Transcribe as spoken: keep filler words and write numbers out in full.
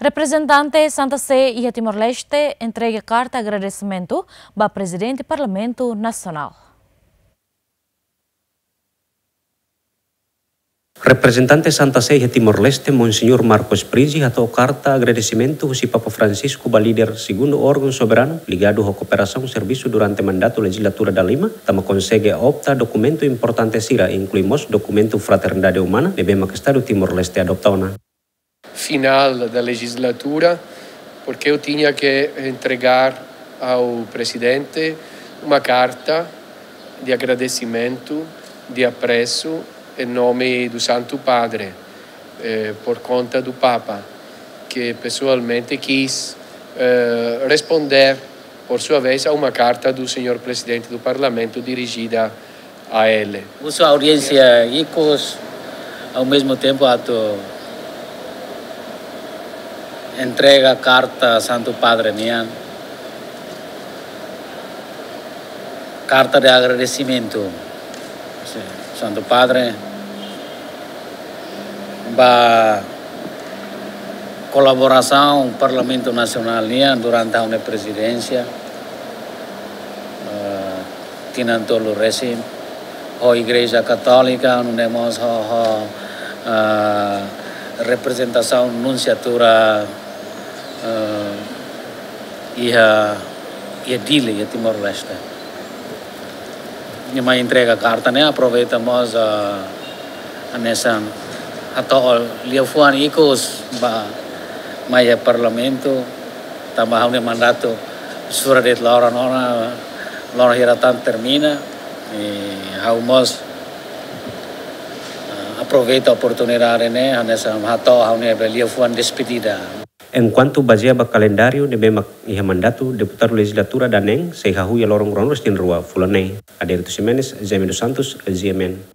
Reprezentante Santa Sé iha Timor-Leste entrega karta agradesimentu ba Prezidente Parlamentu Nasionál. Reprezentante Santa Sé iha Timor-Leste, Monseñór Marcos Prizzi, hato'o karta agradesimentu husi Papa Francisco ba líder segundu órgaun soberanu ligadu ho kooperasaun servisu durante mandatu lejizlatura dalima, tanba konsege opta dokumentu importante sira, inklui mós dokumentu Fraternidade Umana, ne'ebé mak Estadu Timor-Leste adopta ona. Final da legislatura, porque eu tinha que entregar ao presidente uma carta de agradecimento, de apreço, em nome do Santo Padre, eh, por conta do Papa, que pessoalmente quis, eh, responder, por sua vez, a uma carta do senhor presidente do Parlamento dirigida a ele. Husu audiénsia ikus, ao mesmo tempo atu entrega karta Santu Padre nian, karta de agradesimentu. Santu Padre ba kolaborasaun Parlamentu Nasionál nian durante ha'u-nia prezidénsia, eh, tinan tolu resin, ho Igreja Katólika, nune'e mós ho, ho, eh, reprezentasaun nunsiatura, eh, iha, iha Dili, iha Timor-Leste. Nia mai entrega karta ne'e, aproveita mós, ah, hanesan hato'o liafuan ikus ba mai iha Parlamentu, tanba ha'u-nia mandatu sura de'it loron ona, loron hira tan termina, i ha'u mós, ah, aproveita oportunidade ne'e, hanesan hato'o ha'u-nia liafuan despedida. Enkuantu bazeia ba kalendáriu ne'ebé mak iha mandatu deputadu lejizlatura daneen sei hahú iha loron ruanulu-resin-rua fulan ne'e. Adérito Ximenes, Jaime dos Santos, G M N.